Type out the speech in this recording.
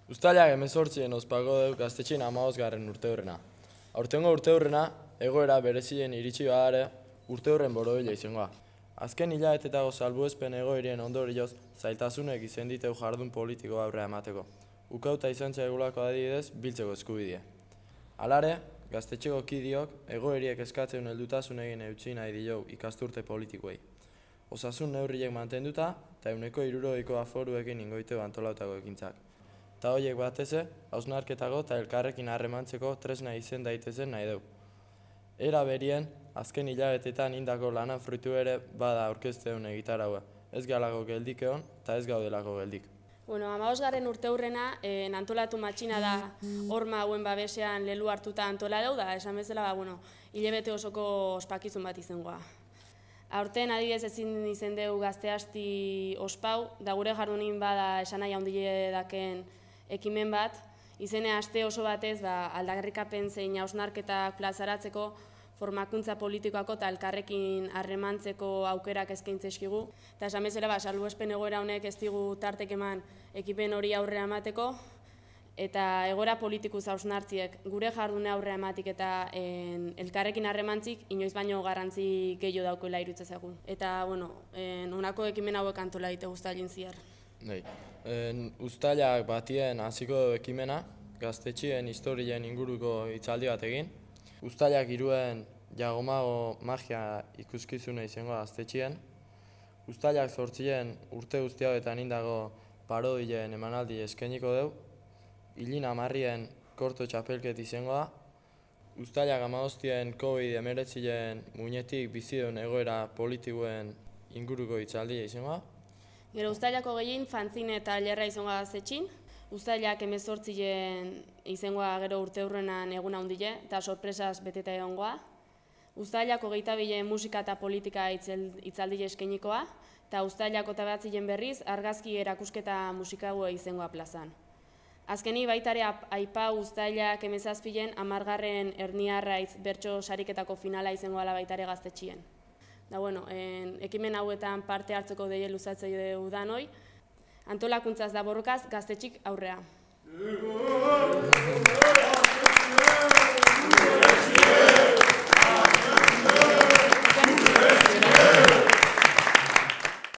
Uztailak 18 ospako deu gaztetxean 15. urteurrena. Aurtengo urteurrena, egoera berezien iritsi badare urteurren borobila izangoa. Azken hilabetetako salbuespen egoerien ondorioz, zailtasunek izen diteu jardun politiko aurrea emateko. Ukauta izan zaigulako adibidez, biltzeko eskubidea. Halare, gaztetxeko kidiok egoeriek eskatzen heldutasun egin eutsi nahi diou ikasturte politikoei. Osasun neurriek mantenduta, eta 160 aforuekin ingoiteu antolautako ekintzak. Eta horiek bateze, hausnarketako eta elkarrekin harremantzeko tresna izen daitezen nahi deu. Era berien, azken hilabetetan indako lanan fruitu ere bada aurkezteun egitaraua. Ez galako geldik egon, eta ez gaudelako geldik. 15. urteurrena antolatu matxina da horma hauen babesean lelu hartuta antola deu da, esan bezala, hilabete osoko ospakizun bat izangoa. Aurten adibidez ezin izen deu gazteasti ospau, da gure jardunin bada esan nahi handile daken ekimen bat, izene aste oso batez aldarrikapen zein hausnarketak plazaratzeko formakuntza politikoako eta elkarrekin harremantzeko aukerak eskaintzeskigu. Eta esan bezala, salbuespen egoera honek ez digu tartek eman ekipen hori aurrea emateko, eta egoera politikuz hausnartziek gure jardune aurrea ematik eta elkarrekin harremantzik inoiz baino garrantzi gehiago daukoela irutzezagu. Eta, honako ekimen hauek antola dite Uztailin zehar. Uztailak batien hasiko ekimena, gaztetxien historien inguruko hitzaldi bat egin. Uztailak 3 jagomago magia ikuskizuna izango gaztetxien. Uztailak 8 urte guzti hauetan indago parodien emanaldi eskainiko deu. Ilin 10 korto txapelket izango da. Uztailak 15 COVID-19 muinetik bizidun egoera politikoen inguruko hitzaldia izango da. Gero Uztailako gehien fanzine eta lerra izango gaztetxin. Uztailak 18 izangoa gero urteurrenan egun handile eta sorpresaz beteta egongoa. Uztailak 22 musika eta politika hitzaldi eskainikoa, eta Uztailak 29 berriz argazki erakusketa musikaua izangoa plazan. Azkeni baitare aipa Uztailak 17 10. Erniarraitz bertso sariketako finala izangoa baitare gaztetxien. Da ekimen hauetan parte hartzeko deie luzatzei dugu danoi, antolakuntzaz da borrokaz gaztetxik aurrea.